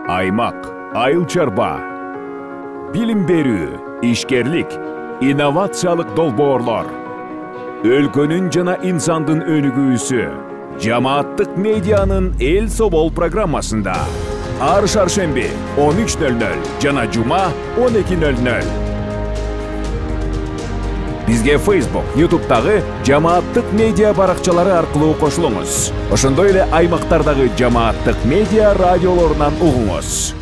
Аймак, айыл чарба, билим берүү, ишкерлик, инновациялык долбоорлор. Өлкөнүн жана инсандын өнүгүүсү жамааттык медианын Эл Собол программасында. Ар шаршемби 13:00 жана жума 12:00. Бизге Facebook, YouTube'дагы жамааттык медиа баракчалары аркылуу кошулуңуз. Ошондой эле аймактардагы жамааттык медиа радиолорунан угуңуз.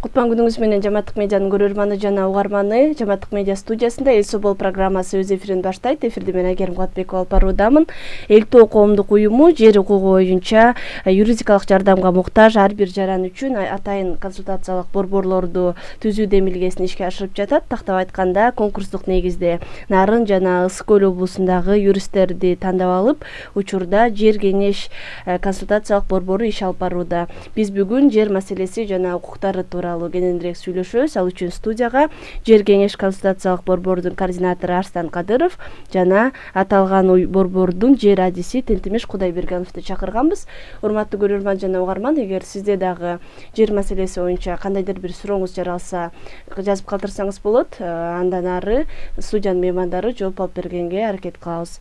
Кутман күнүңүз менен жамааттык медианын көрөрманы жана угарманы. Жамааттык медиа студиясында Эл Собол программасы өз эфирин баштайт. Эфирде мен Айгерим Кулатбекова алып баруудамын. Элтоо коомдук уюму жер укугу боюнча юридикалык жардамга муктаж ар бир жаран үчүн атайын консультациялык борборлорду түзүү демилгесин ишке ашырып жатат. Тактап айтканда, конкурстук негизде Нарын жана Ысык Көл облусундагы юристтерди тандап алып, учурда жер кеңеш консультациялык борбору иш алып барууда. Биз бүгүн жер маселеси жана укуктары тууралуу кененирээк сүйлөшөбүз. Ал үчүн студияга жер кеңеш консультациялык борбордун координатору Арстан Кадыров жана аталган борбордун жер адиси Тентимеш Кудайбергеновду чакырганбыз. Урматтуу көрөрман жана угарман, эгер сизде дагы жер маселеси боюнча кандайдыр бир сурооңуз жаралса, жазып калтырсаңыз болот. Андан ары студиянын меймандары жооп алып бергенге аракет кылабыз.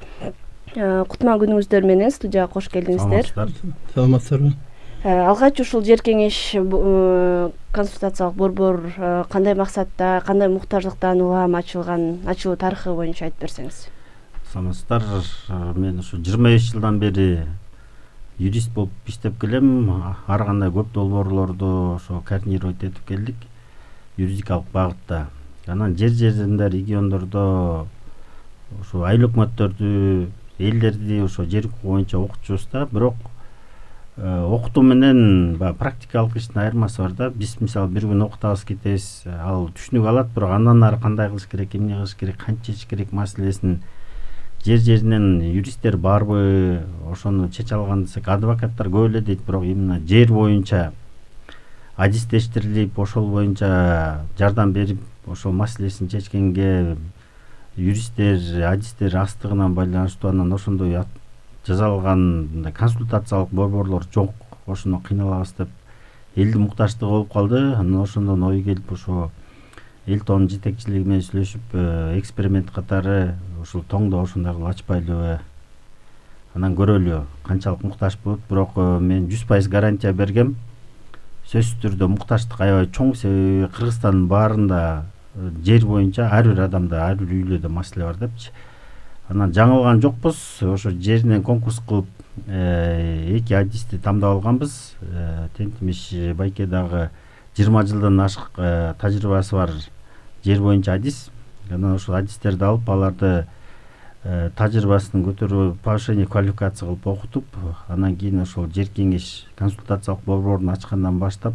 Кутман күнүңүздөр менен студияга кош келдиңиздер. Саламатсыздарбы? Алгач ушул жер кеңеш консультациялык борбор кандай максатта, кандай муктаждыктан улам ачылуу тарыхы боюнча айтып берсеңиз. Саламатсыздар. Мен ушу 25 жылдан бери юрист болуп иштеп келем. Ар кандай көп долбоорлорду ошо координировать этип келдик юридикалык багытта. Анан жер-жеринде, региондордо ошо айыл өкмөттөрдү, элдерди ошо жер укугу боюнча окутчубуз да, бирок окутуу менен практикалык иштин айырмасы бар да. Биз мисалы бир күн окутабыз, кетебиз, ал түшүнүк алат, бирок андан ары кандай кылыш керек, эмне кылыш керек, канча чечиш керек маселесин жер-жеринен юристтер барбы, ошону чече алган десек, адвокаттар көп эле дейт, бирок именно жер боюнча адистештирилип, ошол боюнча жардам берип, ошол маселесин чечкенге юристтер, адистер астыгынан байланыштуу, анан ошондой жасалган консультациялык борборлор жок. Ошону кыйналабыз деп элдин муктаждыгы болуп калды. Анан ошондон ой келип, ошо Элтоонун жетекчилиги менен сүйлөшүп, эксперимент катары ушул тоңдо ошондой кылып ачпайлыбы, анан көрөлү канчалык муктаж болот. Бирок мен 100% гарантия бергем, сөзсүз түрдө муктаждык аябай чоң. Себеби Кыргызстандын баарында жер боюнча ар бир адамда, ар бир үйлөдө маселе бар депчи. Анан жаңылган жокпуз. Ошо жеринен конкурс кылып, 2 адисти тандап алганбыз. Тентимеш байке дагы 20 жылдан ашык тажрыйбасы бар жер боюнча адис. Анан ошол адистерди алып, аларды тажрыйбасын көтөрүп, повышение квалификация кылып окутуп, анан кийин ошол жер кеңеш консультациялык борборун ачкандан баштап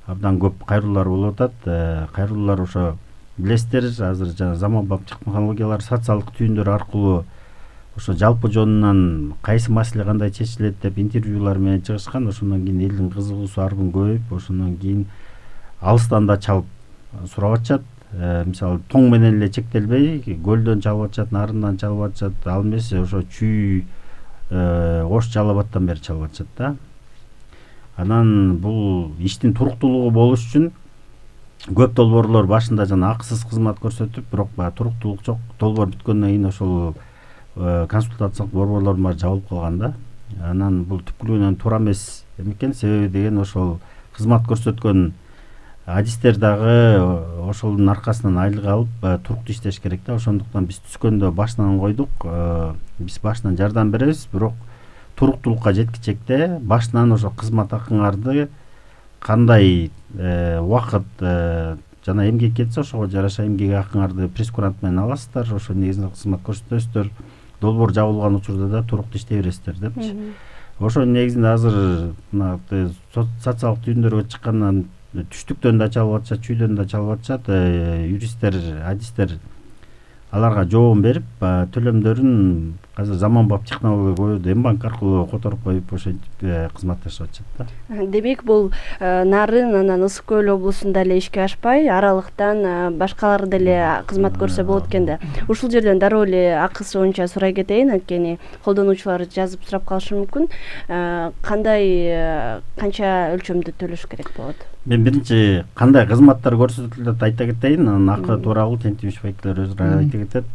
абдан көп кайрылуулар болуп атат. Кайрылуулар ошо билесиздер, азыр жана заманбап технологиялар, социалдык түйүндөр аркылуу ошо жалпы жонунан кайсы маселе кандай чечилет деп интервьюлар менен чыгышкан. Ошондон кийин элдин кызыгуусу ар күн көбөйүп, ошондон кийин алыстан да чалып сурап атышат. Мисалы тоң менен эле чектелбей, көлдөн чалып атышат, нарындан чалып атышат, ал эмес ошо Чүй, Ош, Жалал Абадтан бери чалып атышат да. Анан бул иштин туруктуулугу болуш үчүн көп долбоорлор башында жана акысыз кызмат көрсөтүп, бирок туруктуулук жок. Долбоор бүткөндөн кийин ошол консультациялык борборлордун баары жабылып калган да. Анан бул түпкүлүгүнөн туура эмес экен. Себеби деген ошол кызмат көрсөткөн адистер дагы ошолдун аркасынан айлык алып туруктуу иштеш керек да. Ошондуктан биз түшкөндө башынан койдук. Биз башынан жардам беребиз, бирок туруктуулукка жеткичекте башынан ошо кызмат акыңарды кандай убакыт жана эмгек кетсе, ошого жараша эмгек акыңарды прескурант менен аласыздар. Ошо негизинде кызмат көрсөтөсүздөр. Долбоор жабылган учурда да туруктуу иштей бересиздер депчи. Ошо негизинде азыр мына социалдык түйүндөргө чыккандан түштүктөн да чалып атышат, чүйдөн да чалып атышат. Юристтер, адистер аларга жообун берип, төлөмдөрүн азыр заманбап технология коюп М-банк аркылуу которуп коюп ошентип кызматташып атышат да. Демек бул Нарын анан Ысык Көл облусунда эле ишке ашпай, аралыктан башкалар деле кызмат көрсө болот экен да. Ушул жерден дароо эле акысы боюнча сурай кетейин, анткени колдонуучулар жазып сурап калышы мүмкүн. Кандай канча өлчөмдө төлөш керек болот? Мен биринчи кандай кызматтар көрсөтүлөт айта кетейин, анан акы тууралуу тентибишбайкилер өзү айта кетет.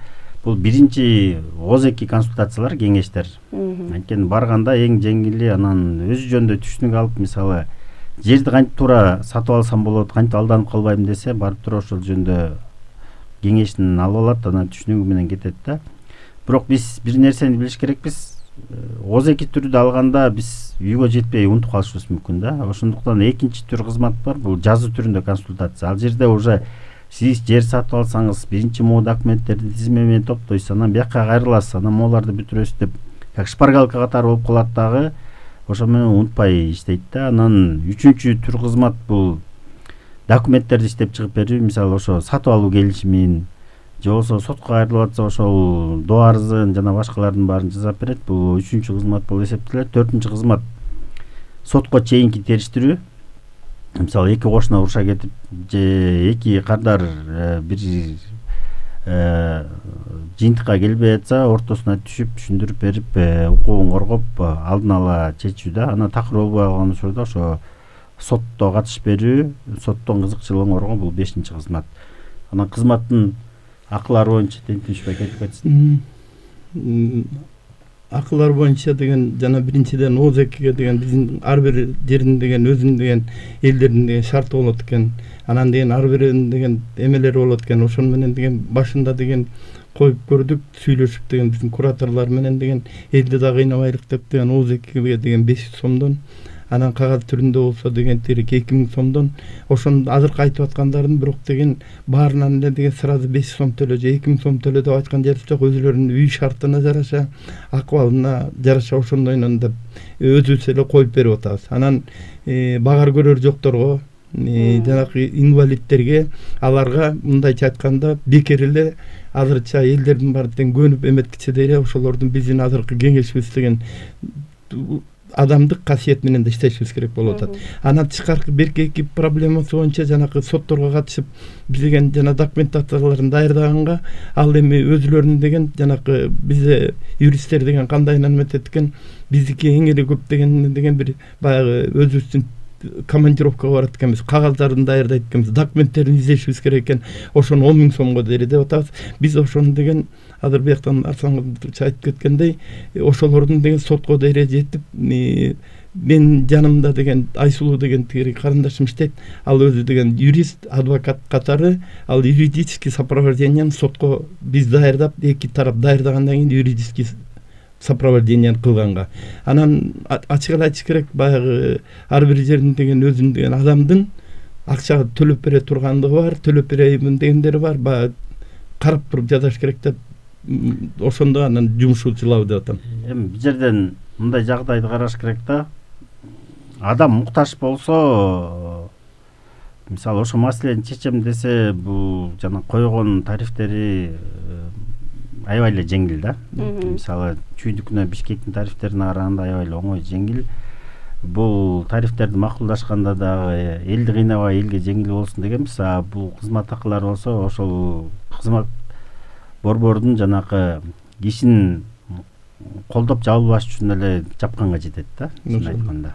Бул биринчи ооз-2 консультациялар, кеңештер. Анткени барганда эң жеңили анан өзү жөнүндө түшүнүк алып, мисалы жерди кантип туура сатып алсам болот, кантип алданып калбайм десе, барып туруп ошол жөнүндө кеңешин алып алат, анан түшүнүгү менен кетет да. Бирок биз бир нерсени билиш керекпиз. ооз-2 түрүдө алганда биз үйгө жетпей унутуп калышыбыз мүмкүн да. Ошондуктан экинчи түр кызмат бар, бул жазуу түрүндө консультация. Ал жерде уже сиз жер сатып алсаңыз, биринчи могу документтерди тизме менен топтойсуз, анан бияка кайрыласыз, анан могуларды бүтүрөсүз деп, как шпаргалка катары болуп калат дагы. Ошо менен унутпай иштейт да. Анан үчүнчү түр кызмат бул документтерди иштеп чыгып берүү, мисалы ошо сатып алуу келишимин же болбосо сотко кайрылып атса ошол доо арызын жана башкалардын баарын жасап берет. Бул үчүнчү кызмат болуп эсептелет. Төртүнчү кызмат сотко чейинки териштирүү. Мисалы эки кошуна уруша кетип же эки кардар бир жыйынтыкка келбей атса, ортосуна түшүп түшүндүрүп берип, укугун коргоп алдын ала чечүү да. Анан такыр болбой калган учурда ошо сотто катышып берүү, соттон кызыкчылыгын коргоо, бул 5-чи кызмат. Анан кызматтын акылары боюнча тентибишбек айтып кетсин. Акылар боюнча деген жана биринчиден ооз-2ге деген биздин ар бир жердин деген өзүнүн деген элдердин деген шарты болот экен. Анан деген ар биринин деген эмелери болот экен. Ошону менен деген башында деген коюп көрдүк, сүйлөшүп деген биздин кураторлор менен деген элди да кыйнабайлык деп деген ооз-2ге деген 500 сомдон, анан кагаз түрүндө болсо деген тирик 2000 сомдон, ошону азыркы айтып аткандардын бирок деген баарынан эле деген сразу 500 сом төлө же 2000 сом төлө деп айткан жери жок. Өзүлөрүнүн үй шартына жараша, акыбалына жараша ошондойнон деп өзүбүз эле коюп берип атабыз. Анан багар көрөр жокторго, жанагы инвалидтерге, аларга мындайча айтканда бекер эле азырча элдердин баары тең көнүп эметкиче эле ошолордун биздин азыркы кеңешибиз деген адамдык касиет менен да иштешибиз керек болуп атат. Анан тышкаркы берки проблемасы боюнча жанагы сотторго катышып биз деген жана документацияларын даярдаганга, ал эми өзүлөрүнүн деген жанагы бизде юристтер деген кандай эметет экен, биздики эң эле көп деген бир баягы өзүбүздүн командировкага барат экенбиз, кагаздарын даярдайт экенбиз, документтерин издешибиз керек экен. Ошону 10 000 сомго дейли деп атабыз. Биз ошону деген азыр бияктан Арслангулович айтып кеткендей, ошолордун деген сотко дейре жетип, мен жанымда деген Айсулуу деген тиги карындашым иштейт. Ал өзү деген юрист, адвокат катары, ал юридический сопровождениени сотко биз даярдап, эки тарап даярдагандан кийин юридический сопровождениени кылганга. Анан ачык эле айтыш керек, баягы ар бир жердин деген өзүнүн деген адамдын акча төлөп бере тургандыгы бар, төлөп берейин дегендери бар, баягы карап туруп жасаш керек деп ошондо анан жумушу жылабы деп атам. Эми бул жерден мындай жагдайды караш керек да. Адам муктаж болсо, мисалы ошо маселени чечем десе, бул жана койгон тарифтери аябай эле жеңил да. Мисалы чүйдүкүнө Бишкектин тарифтерине караганда аябай эле оңой, жеңил. Бул тарифтерди макулдашканда дагы элди кыйнабай элге жеңил болсун дегенбиз. Бул кызмат акылары болсо ошол кызмат борбордун жанакы ишин колдоп жабылбаш үчүн эле жапканга жетет да, чын айтканда.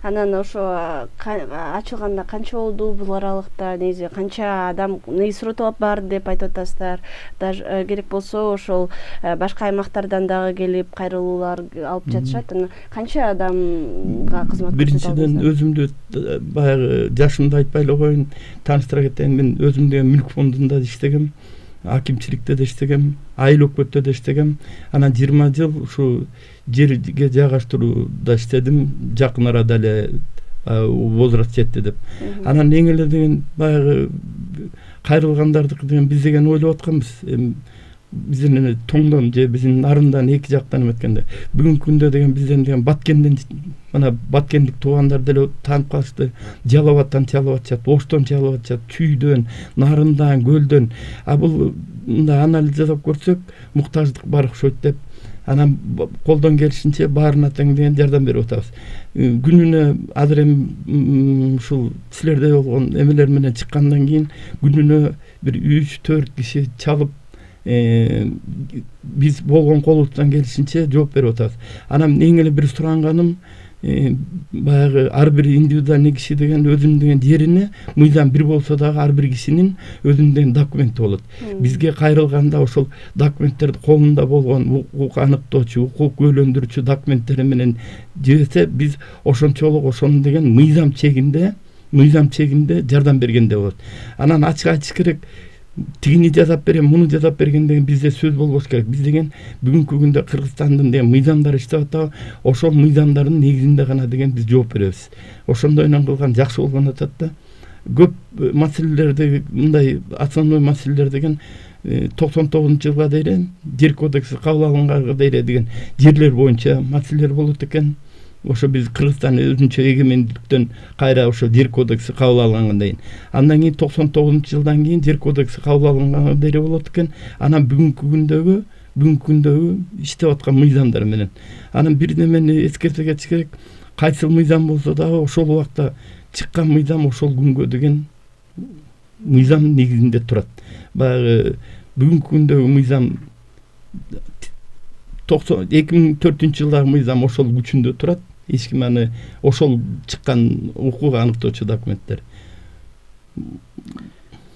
Анан ошо ачылганда канча болду бул аралыкта, негизи канча адам негизи суротуп барды деп айтып атасыздар. Даже керек болсо ошол башка аймактардан дагы келип кайрылуулар алып жатышат. Анан канча адамга кызмат көрсөтөт? Биринчиден өзүмдү баягы жашымды айтпай эле коеюн, тааныштыра кетейин. Мен өзүм деген мүлк фондунда иштегем, акимчиликте да иштегем, айыл өкмөттө да иштегем. Анан 20 жыл ушу жерге жайгаштырууда иштедим, жакын арада эле возраст жетти деп. Анан эң эле деген баягы кайрылгандардыкы деген биз деген ойлоп атканбыз. Биздин тоңдон же биздин нарындан эки жактан эметкенде. Бүгүнкү күндө деген бизден деген Баткенден, мына Баткендик туугандар деле таанып калышты. Жалал Абадтан чалып атышат, Оштон чалып атышат, Чүйдөн, Нарындан, Көлдөн. Бул мындай анализ жасап көрсөк, муктаждык бар окшойт деп. анан колдон келишинче баарына тең деген жардам берип атабыз. Күнүнө азыр эми ушул силерде болгон эмелер менен чыккандан кийин күнүнө бир 3-4 киши чалып биз болгон колубуздан келишинче жооп берип атабыз. Анан эң эле бир суранганым баягы ар бир индивидуальный киши деген өзүнүн деген жерине мыйзам бир болсо дагы ар бир кишинин өзүнүн деген документи болот. Бизге кайрылганда ошол документтерди колунда болгон укук аныктоочу, укук күбөлөндүрүүчү документтери менен жиберсе, биз ошончолук ошонун деген мыйзам чегинде жардам бергенде болот. Анан ачык айтыш керек, тигини жасап берем, муну жасап берген деген бизде сөз болбош керек. Биз деген бүгүнкү күндө Кыргызстандын деген мыйзамдары иштеп атабы, ошол мыйзамдардын негизинде гана деген биз жооп беребиз. Ошондой менен кылган жакшы болгон атат да. Көп маселелерди, мындай основной маселелер деген 99-жылга дейин жер кодекси кабыл алынганга дейин деген жерлер боюнча маселелер болот экен. Ошо биз Кыргызстан өзүнчө эгемендиктен кайра ошо жер кодекси кабыл алынгандан кийин, андан кийин 99-жылдан кийин жер кодекси кабыл алынганга дейин болот экен. Анан бүгүнкү күндөгү иштеп аткан мыйзамдар менен. Анан бир немени эскерте кетиш керек. Кайсыл мыйзам болсо дагы ошол убакта чыккан мыйзам ошол күнгө деген мыйзам негизинде турат. Баягы бүгүнкү күндөгү мыйзам 2004-жылдагы мыйзам ошол күчүндө турат. Эч ким аны ошол чыккан укук аныктоочу документтер.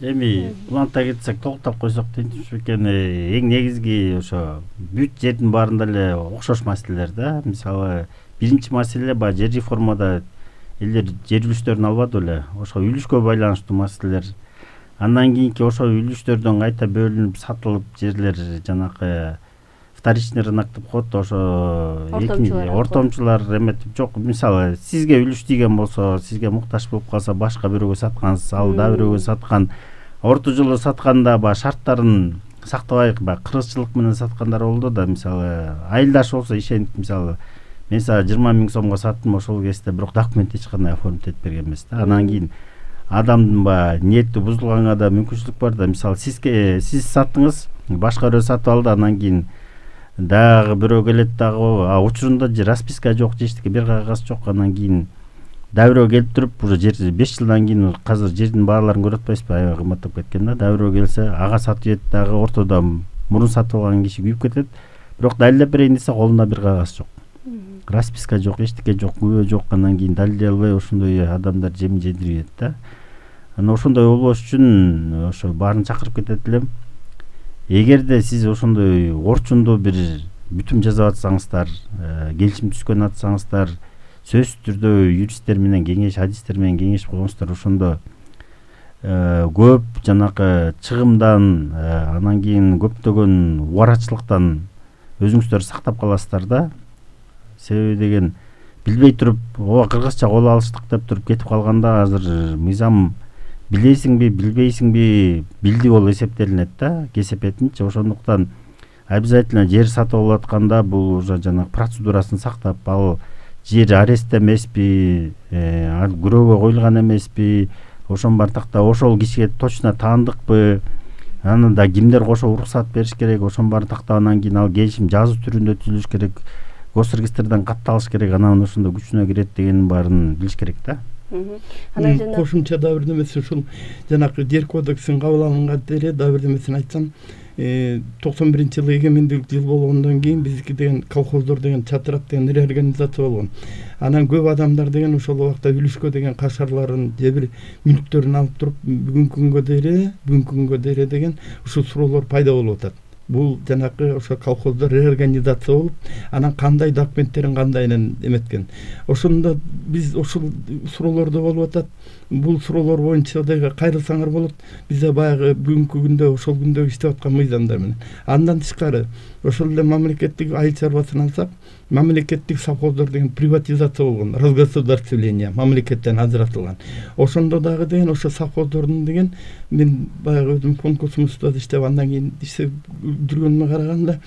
Эми уланта кетсек, токтоп койсок дейчү экен, эң негизги ошо бүт жердин баарында эле окшош маселелер да. Мисалы, биринчи маселе баягы жер реформада элдер жер үлүштөрүн албады беле. Ошо үлүшкө байланыштуу маселелер. Андан кийинки ошо үлүштөрдөн кайта бөлүнүп сатылып жерлер жанакы вторичный рынок деп коет, ошо ортомчулар эметип жок. Мисалы, сизге үлүш тийген болсо, сизге муктаж болуп калса, башка бирөөгө саткансыз, ал да бирөөгө саткан. Орто жолу сатканда баягы шарттарын сактабай кыргызчылык менен саткандар болду да. Мисалы, айылдаш болсо ишенип, мисалы, мен сага 20 000 сомго саттым, ошол кезде бирок документ эч кандай оформить этип берген эмес да. Анан кийин адамдын баягы ниети бузулганга да мүмкүнчүлүк бар да. Мисалы, сиз саттыңыз, башка бирөө сатып алды, анан кийин дагы бирөө келет дагы, учурунда расписка жок, эчтеке бир кагаз жок, анан кийин дагы бирөө келип туруп, уже жер 5 жылдан кийин азыр жердин бааларын көрүп атпайсызбы, аябай кымбаттап кеткен да. Дагы бирөө келсе, ага сатып жет, дагы ортодо мурун сатып алган киши күйүп кетет. Бирок далилдеп берейин десе, колунда бир кагаз жок. Расписка жок, эчтеке жок, күбө жок, анан кийин далилдей албай ошондой адамдар жем жедирип да. Анан ошондой болбош үчүн ошо баарын чакырып кетет элем. Эгерде сиз ошондой орчунду бир бүтүм жасап атсаңыздар, келишим түзгөн атсаңыздар, сөзсүз түрдө юристтер менен кеңеш, адистер менен кеңешип койгонсуздар, ошондо көп жанакы чыгымдан, анан кийин көптөгөн убарачылыктан өзүңүздөр сактап каласыздар да. Себеби деген билбей туруп, кыргызча кол алыштык деп туруп кетип калганда, азыр мыйзам билесиңби, билбейсиңби, билди болуп эсептелинет да, кесепетинчи. Ошондуктан обязательно жер сатып алып атканда бул уже жанагы процедурасын сактап, ал жер арест эмеспи, күрөөгө коюлган эмеспи, ошонун баарын тактап, ошол кишиге точно таандыкпы, анан да кимдер кошо уруксат бериш керек, ошонун баарын тактап, анан кийин ал келишим жазуу түрүндө түзүлүш керек, госрегистрден катталыш керек, анан ошондо күчүнө кирет дегенин баарын билиш керек да. Кошумча да бир немеси ушул жанакы жер кодексин кабыл алынган деле да бир немесин айтсам, 91-жылы эгемендик жыл болгондон кийин биздики деген колхоздор деген чатырап деген реорганизация болгон. Анан көп адамдар деген ошол убакта үлүшкө деген кашарларын же бир мүлктөрүн алып туруп бүгүнкү күнгө дейре деген ушул суроолор пайда болуп атат. Бул жанакы ошо колхоздор реорганизация болуп, анан кандай документтерин кандайын эметкен. Ошондо биз ушул суроолордо болуп атат. Бул суроолор боюнча да кайрылсаңар болот. Бизде баягы бүгүнкү күндө ошол күндө иштеп аткан мыйзамдар менен. Андан тышкары ошол эле мамлекеттик айыл чарбасын алсак, мамлекеттик совхоздор деген приватизация болгон, разгосударствление, мамлекеттен ажыратылган. Ошондо дагы деген ошо совхоздордун деген мен баягы өзүм конкурсумузда иштеп андан кийин иштеп жүргөнүмө караганда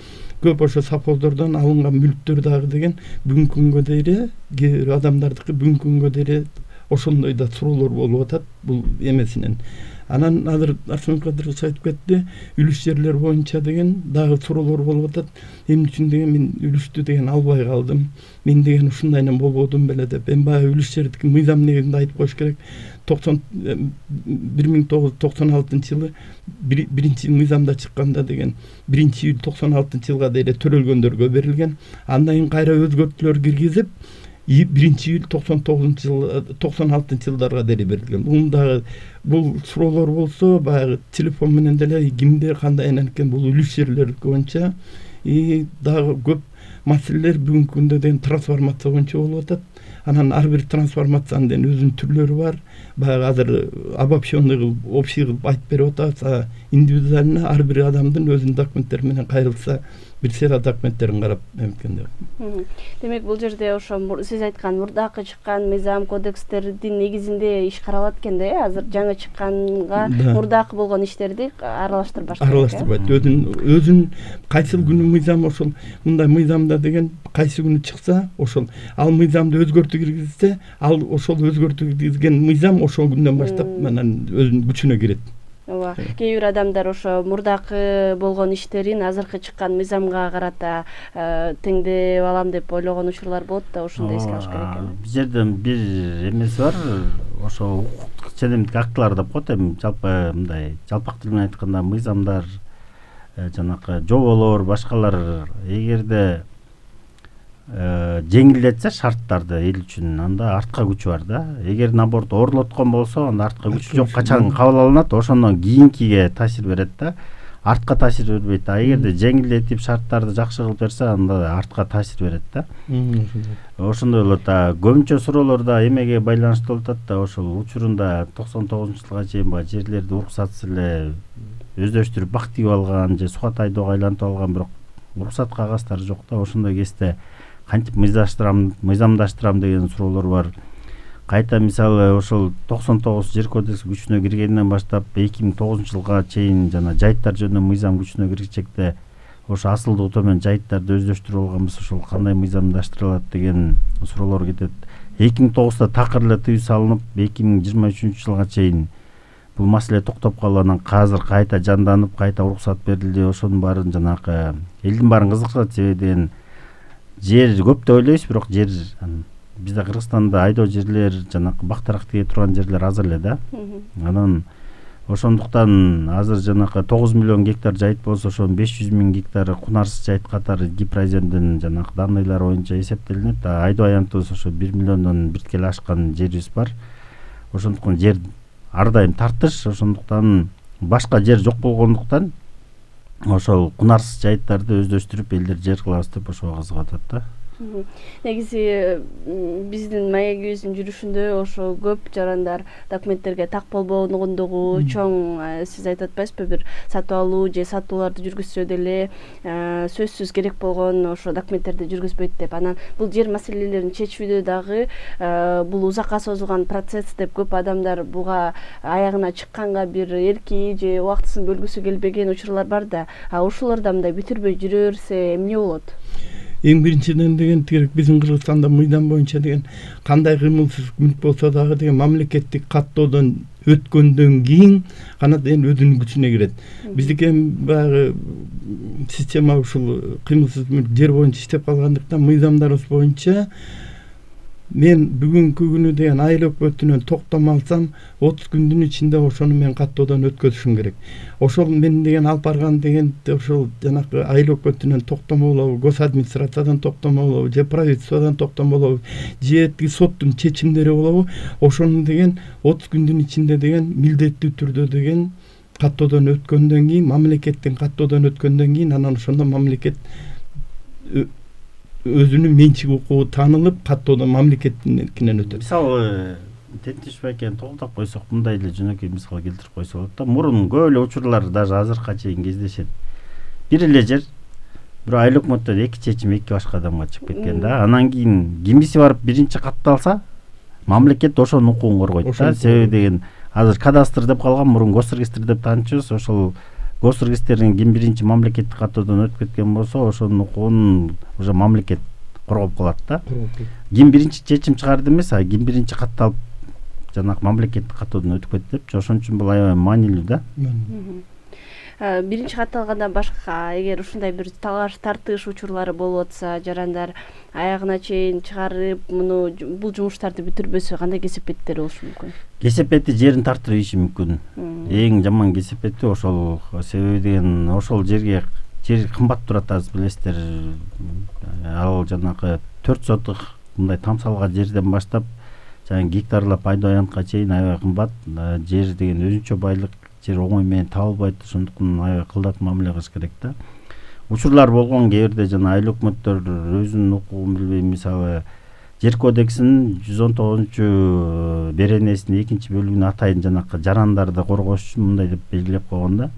көп ошо совхоздордон алынган мүлктөр дагы деген бүгүнкү күнгө дейре адамдардыкы бүгүнкү күнгө дейре ошондой да суроолор болуп атат бул эмесинен. Анан азыр Арслан Кадырович айтып кетти, үлүш жерлер боюнча деген дагы суроолор болуп атат. Эмне үчүн деген мен үлүштү деген албай калдым. Мен деген ушундайынан болбодум беле деп. Эми баягы үлүш жердики мыйзам негизинде айтып коюш керек. 1996-жылы биринчи мыйзамда чыкканда деген 1-июль 96-жылга дейре төрөлгөндөргө берилген. Андан кийин кайра өзгөртүүлөр киргизип 1-июль 96-жылдарга дейре берилген. Бул суроолор болсо баягы телефон менен деле кимдер кандай экен бул үлүш жерлер боюнча дагы көп маселелер бүгүнкү күндө деген трансформация боюнча болуп атат. Анан ар бир трансформациянын деген өзүнүн түрлөрү бар. Баягы азыр обобщенный кылып, общий кылып айтып берип атабыз. Индивидуально ар бир адамдын өзүнүн документтери менен кайрылса, бир сыйра документтерин карап эметкенде. Демек бул жерде ошо сиз айткан мурдакы чыккан мыйзам кодекстердин негизинде иш каралат экен да, азыр жаңы чыкканга мурдакы болгон иштерди аралаштырбаш керек. Аралаштырбайт. Өзүн кайсыл күнү мыйзам ошол мындай мыйзамда деген кайсы күнү чыкса, ошол ал мыйзамды өзгөртүү киргизсе, ал ошол өзгөртүү киргизген мыйзам ошол күндөн баштап анан өзүнүн күчүнө кирет. Ооба. Кээ бир адамдар ошо мурдакы болгон иштерин азыркы чыккан мыйзамга карата теңдеп алам деп ойлогон учурлар болот да, ошондо эске алыш керек экен. Бул жерден бир эмеси бар, ошо укуктук ченемдик актылар деп коет. Эми жалпы мындай жалпак тил менен айтканда мыйзамдар, жанакы жоболор, башкалар эгерде жеңилдетсе шарттарды эл үчүн, анда артка күчү бар да. Эгер наоборот оорлоткон болсо, анда артка күчү жок, качан кабыл алынат, ошондон кийинкиге таасир берет да. Артка таасир бербейт. А эгерде жеңилдетип шарттарды жакшы кылып берсе, анда артка таасир берет да. Ошондой болот. Көбүнчө суроолорда эмеге байланыштуу болуп атат да, ошол учурунда 99-жылга чейин баа жерлерди уруксатсыз эле өздөштүрүп бак тийип алган же сухат айдоого айлантып алган, бирок уруксат кагаздары жок да. Ошондой кезде кантип мыйзамдаштырам деген суроолор бар. Кайта мисалы ошол 99 жер кодекси күчүнө киргенден баштап 2009-жылга чейин жана жайыттар жөнүндө мыйзам күчүнө киришекте ошо асылдуу менен жайыттарды өздөштүрүп алганбыз, ошол кандай мыйзамдаштырылат деген суроолор кетет. 2009-да такыр эле тыюу салынып, 2023-жылга чейин бул маселе токтоп калып, анан азыр кайта жанданып, кайта уруксат берилди. Ошонун баарын жанакы элдин баарын кызыктырат, себеби деген жер көп деп ойлойбуз, бирок жер бизде Кыргызстанда айдоо жерлер, жанакы бактарак тие турган жерлер аз эле да. Анан ошондуктан азыр жанакы 9 миллион гектар жайыт болсо, ошонун 500 миң гектары кунарсыз жайыт катары Гипроземдин жанакы данныйлары боюнча эсептелинет. Айдоо аянтыбыз ошо 1 миллиондон бирткеле ашкан жерибиз бар. Ошондуктан жер ар дайым тартыш, ошондуктан башка жер жок болгондуктан ошол кунарсыз жайыттарды өздөштүрүп элдер жер кылабыз деп ошого кызыгып атат да. Негизи биздин маегибиздин жүрүшүндө ошо көп жарандар документтерге так болбогондугу чоң, сиз айтып атпайсызбы, бир сатып алуу же сатууларды жүргүзсө деле сөзсүз керек болгон ошо документтерди жүргүзбөйт деп. Анан бул жер маселелерин чечүүдө дагы бул узакка созулган процесс деп көп адамдар буга аягына чыкканга бир эрки же убактысын бөлгүсү келбеген учурлар бар да. Ушуларда мындай бүтүрбөй жүрө берсе эмне болот? Эң биринчиден деген тирек биздин Кыргызстанда мыйзам боюнча деген кандай кыймылсыз мүлк болсо дагы деген мамлекеттик каттоодон өткөндөн кийин гана деген өзүнүн күчүнө кирет. Биздики баягы система ушул кыймылсыз мүлк жер боюнча иштеп калгандыктан мыйзамдарыбыз боюнча мен бүгүнкү күнү деген айыл өкмөтүнөн токтом алсам 30 күндүн ичинде ошону мен каттоодон өткөзүшүм керек. Ошол мен деген алып барган деген ошол жанакы айыл өкмөтүнөн токтомо болобу, гос администрациядан токтомо болобу, же правительстводон токтомо болобу, же соттун чечимдери болобу, ошону деген 30 күндүн ичинде деген милдеттүү түрдө деген каттоодон өткөндөн кийин, мамлекеттин каттоодон өткөндөн кийин анан ошондо мамлекет өзүнүн менчик укугу таанылып, каттоодон мамлекеттинен өтөт. Мисалы Тентиш байкен тогдоп койсок, мындай эле жөнөкөй мисал келтирип койсо болот да. Мурун көп эле учурлар даже азыркыга чейин кездешет. Бир эле жер, бирок айыл өкмөттөн 2 чечим 2 башка адамга чыгып кеткен да. Анан кийин кимиси барып биринчи катталса, мамлекет ошонун укугун коргойт да. Себеби деген азыр кадастр деп калган, мурун госрегистр деп таанычыбыз. Ошол госрегистрден ким биринчи мамлекеттик каттоодон өтүп кеткен болсо, ошонун укугун уже мамлекет коргоп калат да. Ким биринчи чечим чыгарды эмес, а ким биринчи катталып жанагы мамлекеттик катуудан өтүп кетти. Ошон үчүн бул аябай маанилүү да. Биринчи катталгандан башка эгер ушундай бир талаш тартыш учурлары болуп атса, жарандар аягына чейин чыгарып бул жумуштарды бүтүрбөсө кандай кесепеттери болушу мүмкүн? Кесепети жерин тартырып ийиши мүмкүн. Эң жаман кесепети ошол. Себеби деген ошол жер кымбат турат, азыр билесиздер. Ал жанагы 4 сотук мындай тамсалга жерден баштап жаңы гектарлап айда аянтка чейин аябай кымбат. Жер деген өзүнчө байлык, жер оңой менен табылбайт, ошондуктан аябай кылдат мамиле кылыш керек да. Учурлар болгон, кээ бирде жана айыл өкмөттөр өзүнүн укугун билбей, мисалы Жер кодексинин 119 беренесинин 2-бөлүгүнө атайын жанакы жарандарды коргош үчүн мындай деп белгилеп койгон да.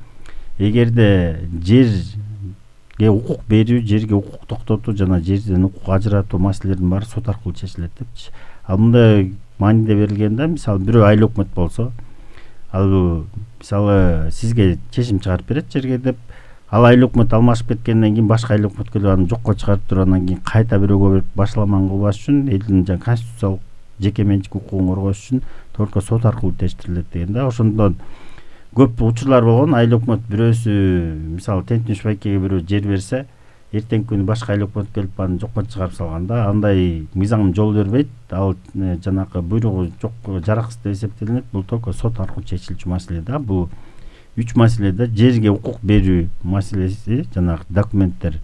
Эгерде жерге укук берүү, жерге укук токтотуу жана жерден укук ажыратуу маселелеринин баары сот аркылуу чечилет депчи. Ал мындай мааниде берилген да, мисалы бирөө айыл өкмөт болсо, ал мисалы сизге чечим чыгарып берет жерге деп, ал айыл өкмөт алмашып кеткенден кийин башка айыл өкмөт келип аны жокко чыгарып туруп андан кийин кайта бирөөгө берип башаламан кылбаш үчүн, элдин жаңы конституциялык жеке менчик укугун коргош үчүн только сот аркылуу тештирилет деген да. Ошондон көп учурлар болгон. Айыл өкмөт бирөөсү мисалы Тентиниш байкеге бирөө жер берсе, эртеңки күнү башка айыл өкмөт келип аны жокко чыгарып салган да. Андай мыйзам жол бербейт. Ал жанакы буйругу жок, жараксыз деп эсептелинет. Бул только сот аркылуу чечилчү маселе да. Бул 3 маселеде жерге укук берүү маселеси, жанагы документтер,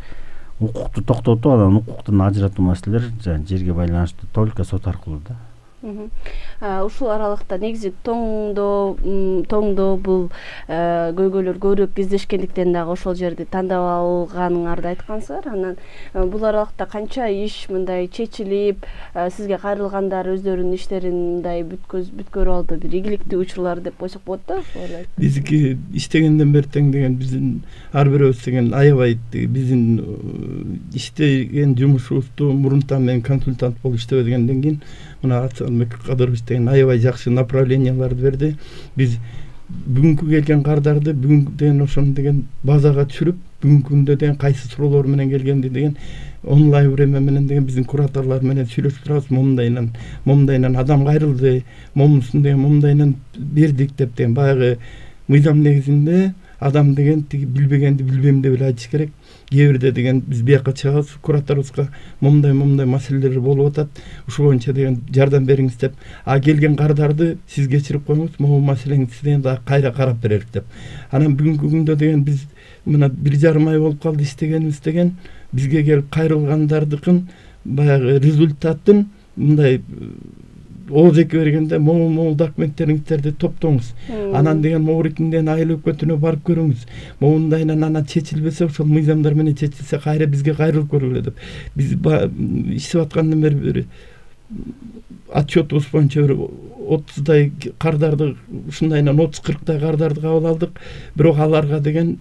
укукту токтотуу, анан укуктун ажыратуу маселелер жерге байланыштуу только сот аркылуу да. Ушул аралыкта негизи тоңдо бул көйгөйлөр көбүрөөк кездешкендиктен дагы ошол жерди тандап алганыңарды айткансыздар. Анан бул аралыкта канча иш мындай чечилип, сизге кайрылгандар өздөрүнүн иштерин мындай бүткөрүп алды, бир ийгиликтүү учурлар деп койсок болот да. Биздики иштегенден бери тең деген биздин ар бирөөбүз деген аябай биздин иштеген жумушубузду мурунтан мен консультант болуп иштебегенден кийин мына Арсанбек Кадырович деген аябай жакшы направленияларды берди. Биз бүгүнкү келген кардарды бүгүнкү деген ошону деген базага түшүрүп, бүгүнкү күндө деген кайсы суроолор менен келгенди деген онлайн время менен деген биздин кураторлор менен сүйлөшүп турабыз. Момундайынан адам кайрылды, момусун деген момундайынан бердик деп деген баягы мыйзам негизинде адам деген тиги билбегенди билбейм деп эле айтыш керек. Кээ бирде деген биз бияка чыгабыз, кураторубузга момундай маселелер болуп атат, ушул боюнча деген жардам бериңиз деп, келген кардарды сиз кечирип коюңуз, могу маселеңизди деген дагы кайра карап берелик деп. Анан бүгүнкү күндө деген биз мына 1,5 ай болуп калды иштегенибиз деген, бизге келип кайрылгандардыкын баягы результатын мындай ооз эки бергенде могу документтериңиздерди топтоңуз. Анан деген Моуритинден айыл өкмөтүнө барып көрүңүз. Момундайынан анан чечилбесе, ошол мыйзамдар менен чечилсе кайра бизге кайрылып көргүлө деп. Биз иштеп аткандан бери бир отчетубуз боюнча бир 30дай кардарды, ушундайынан 30-40дай кардарды кабыл алдык. Бирок аларга деген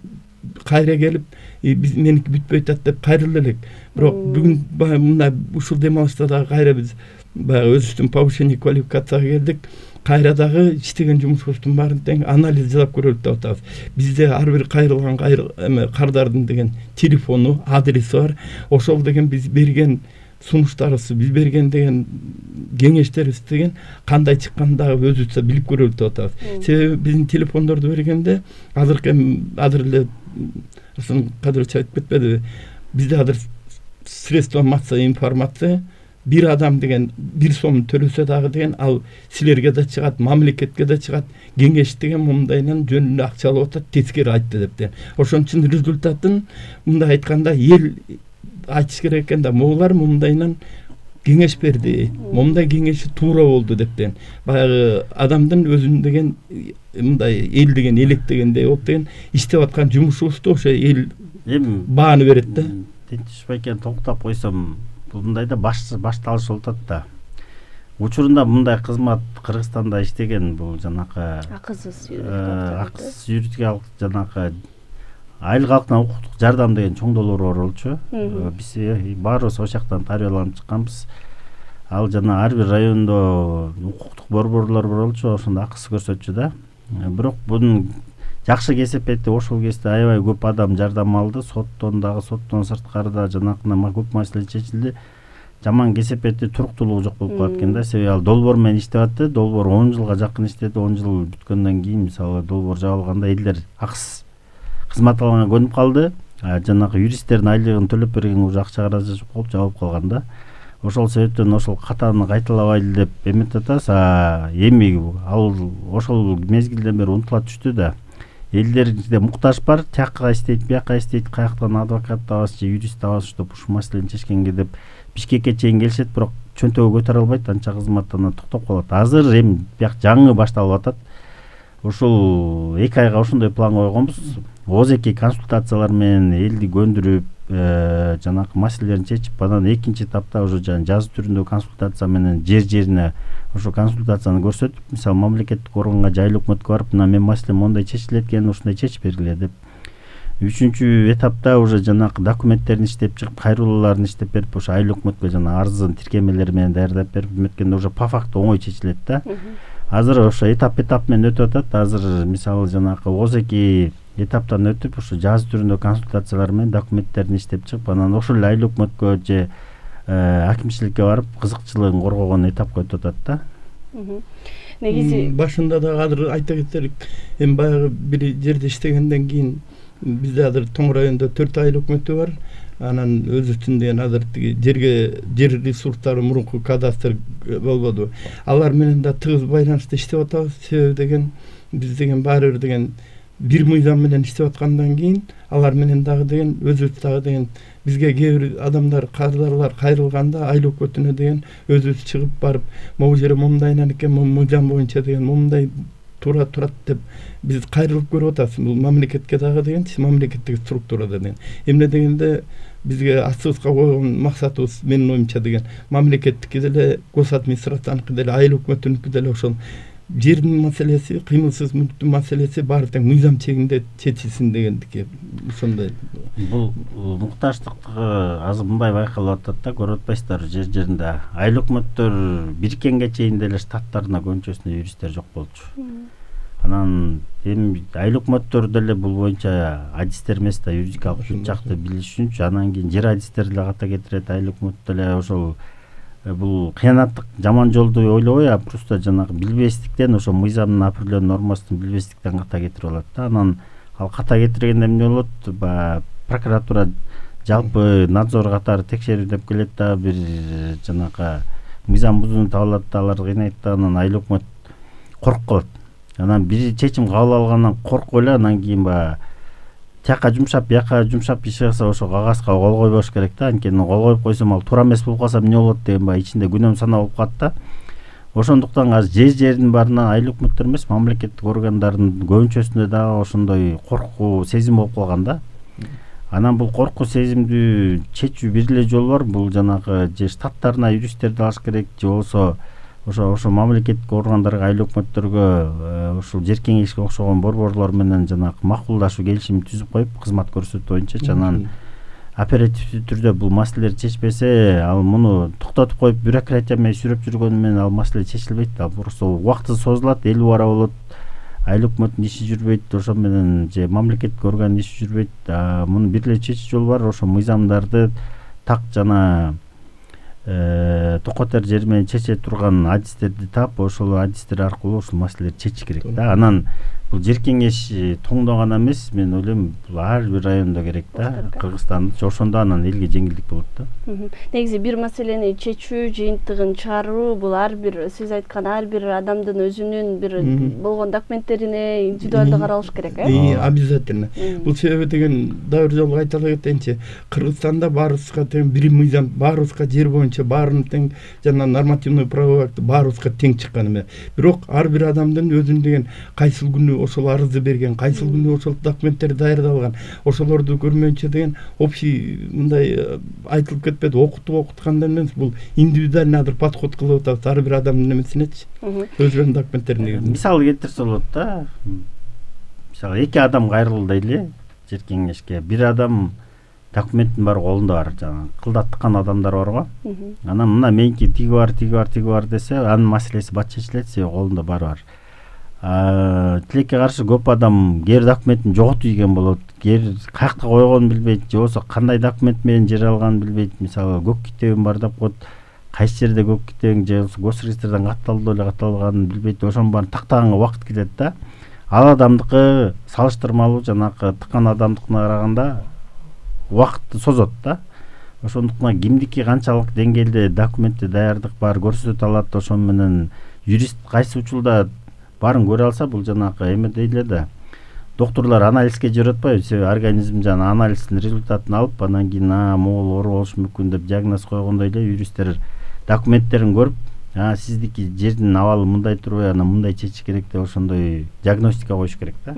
кайра келип, биз меники бүтпөй атат деп кайрыла элек. Бирок бүгүн мындай ушул дем алышта дагы кайра биз баягы өзүбүздүн повышение квалификацияга келдик. Кайра дагы иштеген жумушубуздун баарын тең анализ жасап көрөлүк деп атабыз. Бизде ар бир кайрылган кардардын деген телефону, адреси бар. Ошол деген биз берген сунуштарыбыз, биз берген деген кеңештерибиз деген кандай чыкканын дагы өзүбүз билип көрөлүк деп атабыз. Себеби биздин телефондорду бергенде азыр эле Арсен Кадырович айтып кетпедиби? Бизде азыр средства массовой информация бир адам деген 1 сом төлөсө дагы деген ал силерге да чыгат, мамлекетке да чыгат, кеңеш деген мындайынан жөнүндө акча алып атат, тескери айтты деп деген. Ошон үчүн результатын мындай айтканда эл айтыш керек экен да, моулар мындайынан кеңеш берди, момундай кеңеши туура болду деп деген. Баягы адамдын өзүн деген мындай эл деген электегендей болуп деген иштеп аткан жумушубузду ошо эл бааны берет да. Тентиш байкени токтоп койсом, мындайда башталыш болуп атат да. Учурунда мындай кызмат Кыргызстанда иштеген бул жанакы акысыз юридикалык жанакы айыл калкына укуктук жардам деген чоң долбоор болчу. Биз баарыбыз ошол жактан тарбияланып чыкканбыз. Ал жана ар бир райондо укуктук борборлор болчу, ошондо акысыз көрсөтчү да. Бирок бунун жакшы кесепети ошол кезде аябай көп адам жардам алды, соттон сырткары да жанакына көп маселе чечилди. жаман кесепети туруктуулугу жок болуп калат экен да. Себеби ал долбоор менен иштеп атты. Долбоор 10 жылга жакын иштеди. 10 жыл бүткөндөн кийин мисалы долбоор жабылганда элдер акысыз кызмат алганга көнүп калды. Жанагы юристтердин айлыгын төлөп берген уже акча каражат жок болуп жабылып калган да. Ошол себептен ошол катаны кайталабайлы деп эметип атабыз. Эми ал ошол мезгилден бери унутула түштү да. Элдерде муктаж бар, тияка иштейт, бияка иштейт, каяктан адвокат табасыз же юрист табасыз деп ушул маселени чечкенге деп Бишкекке чейин келишет, бирок чөнтөгү көтөрө албайт, анча кызматтан токтоп калат. Азыр эми бияк жаңы башталып атат. Ушул 2 айга ошондой план койгонбуз. Озеки консультациялар менен элди көндүрүп, жанагы маселелерин чечип, анан экинчи этапта уже жазуу түрүндө консультация менен жер-жерине ошо консультацияны көрсөтүп, мисалы мамлекеттик органга, жайлуу өкмөткө барып, мына мен маселем мондай чечилет экен, ушундай чечип бергиле деп. 3-чү этапта уже жанагы документтерин иштеп чыгып, кайрылууларын иштеп берип, ошо айыл өкмөткө жана арызын тиркемелери менен даярдап берип, эметкенде уже по факту оңой чечилет да. Азыр ошо этап менен өтүп атат. Азыр мисалы жанагы озеки этаптан өтүп, ошо жазуу түрүндө консультациялар менен документтерин иштеп чыгып, анан ошол эле айыл өкмөткө же акимчиликке барып кызыкчылыгын коргогон этапка өтүп атат да. Негизи башында да азыр айта кетелик, эми баягы бир жерде иштегенден кийин бизде азыр Тоң районунда 4 айыл өкмөтү бар. Анан өзүбүздүн деген азыр жер ресурстары мурунку кадастр болбоду. Алар менен да тыгыз байланышта иштеп атабыз. Себеби деген биз деген баары бир деген бир мыйзам менен иштеп аткандан кийин алар менен дагы деген өзүбүз дагы деген бизге кээ бир адамдар, кардарлар кайрылганда айыл өкмөтүнө деген өзүбүз чыгып барып, могу жере момундайынан экен, мыйзам боюнча деген момундай туура турат деп биз кайрылып көрүп атабыз. Бул мамлекетке дагы деген, мамлекеттик структурада деген. Эмне дегенде бизге астыбызга койгон максатыбыз менин оюмча деген мамлекеттики деле, госадминистрацияныкы деле, айыл өкмөтүнүкү деле ошол жердин маселеси, кыймылсыз мүлктүн маселеси баары тең мыйзам чегинде чечилсин дегендики. Ошондой. Бул муктаждык азыр мындай байкалып атат да, көрүп атпайсыздарбы, жер-жеринде айыл өкмөттөр бириккенге чейин деле штаттарына көбүнчөсүндө юристтер жок болчу. Анан эми айыл өкмөттөр деле бул боюнча адистер эмес да, юридикалык бүт жакты билиш үчүнчү, анан кийин жер адистери деле ката кетирет, айыл өкмөт деле ошол бул кыянаттык жаман жолду ойлобой, просто жанагы билбестиктен, ошо мыйзамдын определенный нормасын билбестиктен ката кетирип алат да. Анан ал ката кетиргенде эмне болот? Прокуратура жалпы надзор катары текшерүү деп келет да, бир жанагы мыйзам бузууну табылат да, алар кыйнайт да, анан айыл өкмөт коркуп калат. Анан бир чечим кабыл алгандан коркуп эле, анан кийин тияка жумшап, бияка жумшап иш кылса ошо кагазга кол койбош керек да. Анткени кол коюп койсом ал туура эмес болуп калса эмне болот деген ичинде күнөм санаа болуп калат да. Ошондуктан азыр жер-жердин баарынан айыл өкмөттөр эмес, мамлекеттик органдардын көбүнчөсүндө дагы ошондой коркуу сезим болуп калган да. Анан бул коркуу сезимди чечүү бир эле жол бар. Бул жанагы же штаттарына юристтерди алыш керек, же болбосо ошо мамлекеттик органдарга, айыл өкмөттөргө ушул жер кеңешке окшогон борборлор менен жанагы макулдашуу келишим түзүп коюп, кызмат көрсөтүү боюнча анан оперативдүү түрдө бул маселелер чечпесе, ал муну токтотуп коюп бюрократия менен сүрөп жүргөнү менен ал маселе чечилбейт. Ал просто убакыты созулат, эл убара болот, айыл өкмөттүн иши жүрбөйт, ошо менен же мамлекеттик органдын иши жүрбөйт. Муну бир эле чечүү жол бар, ошо мыйзамдарды так жана токотер жери менен чече турган адистерди таап, ошол адистер аркылуу ушул маселелерди чечиш керек да. Анан бул жер кеңеш Тоңдо гана эмес, мен ойлойм бул ар бир райондо керек да, Кыргызстанда. Ошондо анан элге жеңилдик болот да. Негизи бир маселени чечүү, жыйынтыгын чыгаруу бул ар бир, сиз айткан ар бир адамдын өзүнүн бир болгон документтерине индивидуалдуу каралыш керек, Обязательно. Бул себеби деген дагы бир жолу айтып кетейинчи. Кыргызстанда баарыбызга тең бир мыйзам, баарыбызга жер боюнча баарын тең жана нормативный правовой акт баарыбызга тең чыккан эме. Бирок ар бир адамдын өзүнүн деген кайсыл күнү ошол арызды берген, кайсыл күнү ошол документтер даярдалган, ошолорду көрмөйүнчө деген общий мындай айтылып кетпеди, окуткандан эмес, бул индивидуальный азыр подход кылып атабыз ар бир адамдын эмесинечи, өзүнүн документтерине. Мисал келтирсе болот да. Мисалы 2 адам кайрылды дейли жер кеңешке. Бир адам документтин баары колунда бар, жана кылдаттыккан адамдар барго. Анан мына меники тиги бар десе, анын маселеси бат чечилет, себеби колунда баары бар. Тилекке каршы көп адам кээ документин жоготуп ийген болот, каякта койгонун билбейт, же болбосо кандай документ менен жер алганын билбейт. Мисалы көк китебим бар деп коет, кайсы жерде көк китебиң же болбосо госреестрден катталды эле катталганын билбейт. Ошонун баарын тактаганга убакыт кетет да. Ал адамдыкы салыштырмалуу жанакы тыккан адамдыкына караганда убакытты созот да. Ошондуктан кимдики канчалык деңгээлде документти даярдык бар көрсөтө алат, ошон менен юрист кайсы учурда баарын көрө алса, бул жанакы эме дейле да. Доктурлар анализге жиберип атпайбы, себеби организм жана анализдин результатын алып, анан кийин могул оору болушу мүмкүн деп диагноз койгондой эле юристтер документтерин көрүп, сиздики жердин абалы мындай турбай, анан мындай чечиш керек деп ошондой диагностика коюш керек да.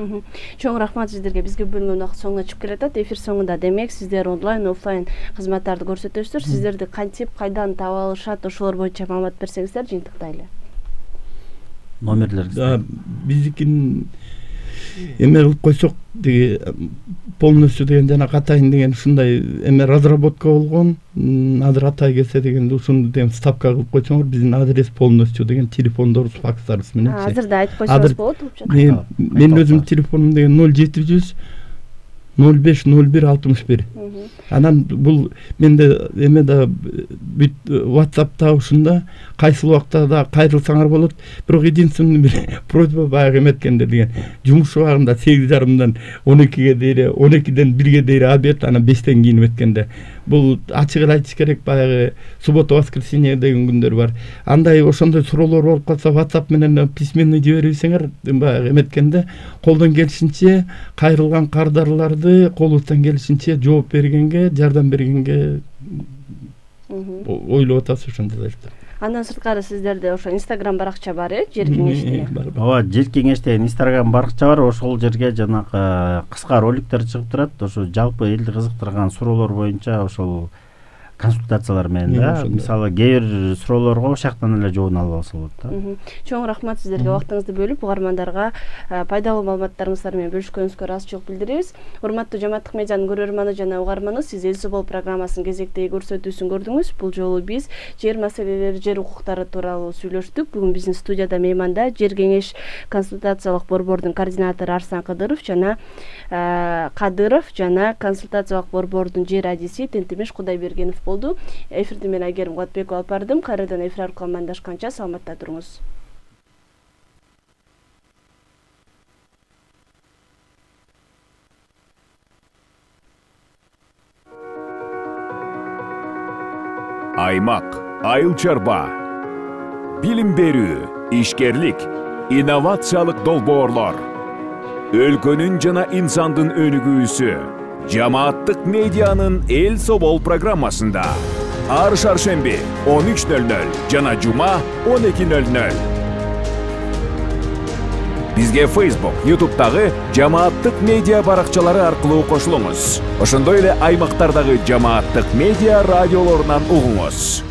Чоң рахмат сиздерге. Бизге бөлүнгөн убакыт соңуна чыгып келатат. Эфир соңунда демек сиздер онлайн, офлайн кызматтарды көрсөтөсүздөр. Сиздерди кантип, кайдан таба алышат, ошолор боюнча маалымат берсеңиздер жыйынтыктайлы. Номерлерди биздикин эме кылып койсок, деги полностью деген жана атайын деген ушундай эме разработка болгон. Азыр атай келсе деген ушуну деген ставка кылып койсоңор, биздин адрес полностью деген телефондорубуз, факстарыбыз менен. Азыр да айтып койсоңуз болот болчу. Мен өзүм телефонум деген 0700 05 01 61. Анан бул менде эме да бүт WhatsApp'та ушунда кайсыл убакта да кайрылсаңар болот. Бирок единственный бир просьба баягы эметкенде деген жумуш убагында 8:30дан 12ге дейин, 12ден 1ге дейин обед, анан 5тен кийин эметкенде. Бул ачык эле айтыш керек, баягы суббота, воскресенье деген күндөр бар. Андай ошондой суроолор болуп калса WhatsApp менен письменный жиберсеңер, баягы эметкенде колдон келишинче кайрылган кардарларды колубуздан келишинче жооп бергенге, жардам бергенге ойлоп атабыз ошондой. Андан сырткары сиздерде ошо Instagram баракча бар, жер кеңеш деген. Ооба, жер кеңеш деген Instagram баракча бар. Ошол жерге жанакы кыска роликтер чыгып турат. Ошо жалпы элди кызыктырган суроолор боюнча ошол консультациялар менен да. Мисалы кээ бир суроолорго ошол жактан эле жообун алып алса болот да. Чоң рахмат сиздерге, убактыңызды бөлүп угармандарга пайдалуу маалыматтарыңыздар менен бөлүшкөнүңүзгө ыраазычылык билдиребиз. Урматтуу Жамааттык медианын көрөрманы жана угарманы, сиз Эл Собол программасынын кезектеги көрсөтүүсүн көрдүңүз. Бул жолу биз жер маселелери, жер укуктары тууралуу сүйлөштүк. Бүгүн биздин студияда мейманда жер кеңеш консультациялык борбордун координатору Арслан Кадыров жана консультациялык борбордун жер адиси Тентимиш Кудайбергенов болду. Эфирди мен Айгерим Кубатбекова алып бардым. Кайрадан эфир аркылуу амандашканча саламатта туруңуз. Аймак, айыл чарба, билим берүү, ишкерлик, инновациялык долбоорлор, өлкөнүн жана инсандын өнүгүүсү Жамааттык медианын Эл Собол программасында ар шаршемби 13:00 жана жума 12:00. Бизге Facebook, YouTube'дагы Жамааттык медиа баракчалары аркылуу кошулуңуз. Ошондой эле аймактардагы Жамааттык медиа радиолорунан угуңуз.